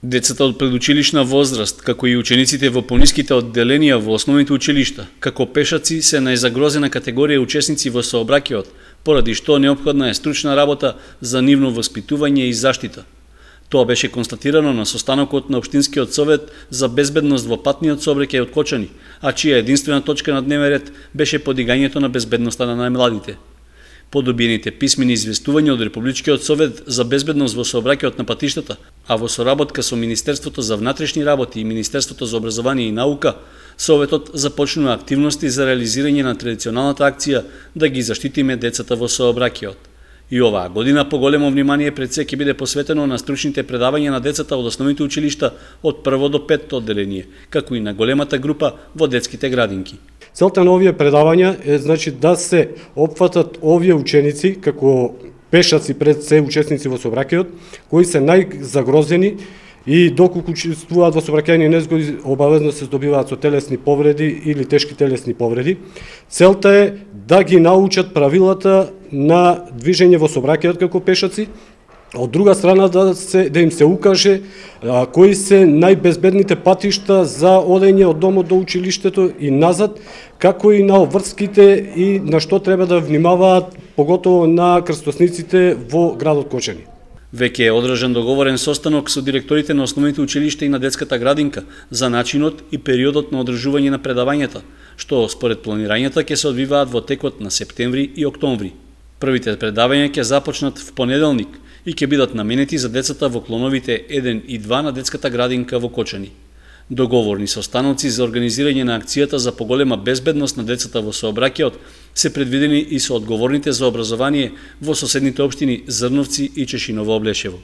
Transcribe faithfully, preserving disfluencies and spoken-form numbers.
Децата од предучилишна возраст, како и учениците во пониските одделенија во основните училишта, како пешаци се најзагрозена категорија учесници во сообраќајот, поради што неопходна е стручна работа за нивно воспитување и заштита. Тоа беше констатирано на состанокот на Општинскиот совет за безбедност во патниот сообраќај од Кочани, а чија единствена точка на дневен ред беше подигањето на безбедноста на најмладите. По добиените писмени известувања од Републичкиот совет за безбедност во сообраќајот на патиштата, а во соработка со Министерството за внатрешни работи и Министерството за образование и наука, Советот започнува активности за реализирање на традиционалната акција да ги заштитиме децата во сообраќајот. И оваа година поголемо внимание пред се ќе биде посветено на стручните предавања на децата од основните училишта од прво до петто одделение, како и на големата група во детските градинки. Целта на овие предавања е значи да се опфатат овие ученици како пешаци пред се учесници во сообраќајот, кои се најзагрозени и доколку учествуваат во сообраќајни незгоди обавезно се здобиваат со телесни повреди или тешки телесни повреди. Целта е да ги научат правилата на движење во сообраќајот како пешаци, од друга страна да, се, да им се укаже а, кои се најбезбедните патишта за одење од домот до училиштето и назад, како и на обврските и на што треба да внимаваат, поготово на крстосниците во градот Кочани. Веќе е одржан договорен состанок со директорите на основните училишта и на детската градинка за начинот и периодот на одржување на предавањата, што според планирањата ќе се одвиваат во текот на септември и октомври. Првите предавања ќе започнат в понеделник и ќе бидат наменети за децата во клоновите еден и два на детската градинка во Кочани. Договорни состаноци за организирање на акцијата за поголема безбедност на децата во сообраќајот се предвидени и со одговорните за образование во соседните општини Зрновци и Чешиново Облешево.